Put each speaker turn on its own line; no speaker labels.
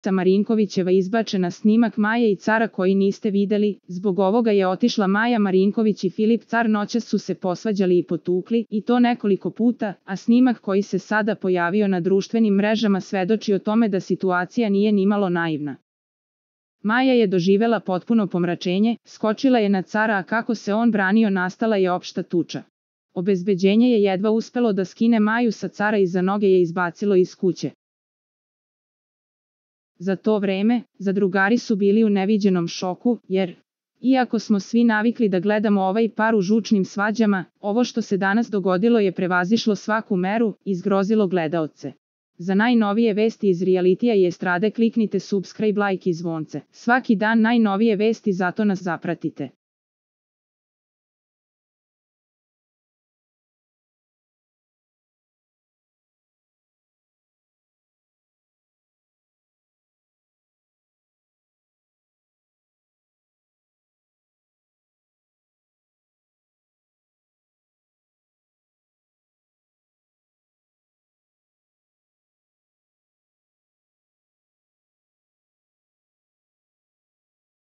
Marinkovićeva izbačena snimak Maje i Cara koji niste videli, zbog ovoga je otišla Maja Marinković i Filip Car noćas su se posvađali i potukli, i to nekoliko puta, a snimak koji se sada pojavio na društvenim mrežama svedoči o tome da situacija nije nimalo naivna. Maja je doživela potpuno pomračenje, skočila je na Cara, a kako se on branio nastala je opšta tuča. Obezbeđenje je jedva uspelo da skine Maju sa Cara i za noge je izbacilo iz kuće. Za to vreme, zadrugari su bili u neviđenom šoku, jer, iako smo svi navikli da gledamo ovaj par u žučnim svađama, ovo što se danas dogodilo je prevazišlo svaku meru i zgrozilo gledaoce. Za najnovije vesti iz realitija i estrade kliknite subscribe, like i zvonce. Svaki dan najnovije vesti, zato nas zapratite.